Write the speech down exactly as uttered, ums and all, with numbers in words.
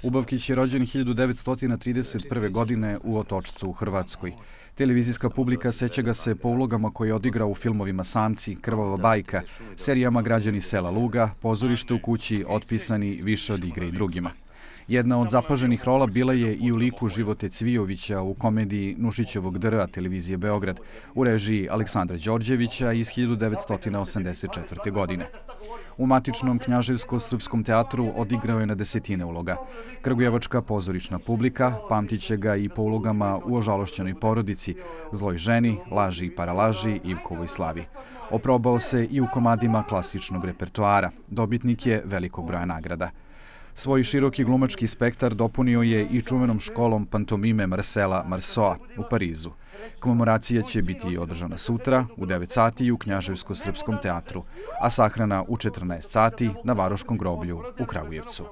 Ubavkić je rođen hiljadu devetsto trideset prve. godine u Otočcu u Hrvatskoj. Televizijska publika seća ga se po ulogama koje je odigrao u filmovima Samci, Krvava bajka, serijama Građani sela Luga, Pozorište u kući, Otpisani, Više od igre i drugima. Jedna od zapaženih rola bila je i u liku Živote Cvijovića u komediji Nušićevog D R A televizije Beograd u režiji Aleksandra Đorđevića iz hiljadu devetsto osamdeset četvrte. godine. U matičnom Knjaževsko-srpskom teatru odigrao je na desetine uloga. Kragujevačka pozorišna publika pamtiće ga i po ulogama u Ožalošćenoj porodici, Zloj ženi, Laži i paralaži, Ivkovoj slavi. Oprobao se i u komadima klasičnog repertoara. Dobitnik je velikog broja nagrada. Svoj široki glumački spektar dopunio je i čuvenom školom pantomime Marcela Marceaua u Parizu. Komemoracija će biti održana sutra u devet sati u Knjaževsko-srpskom teatru, a sahrana u četrnaest sati na Varoškom groblju u Kragujevcu.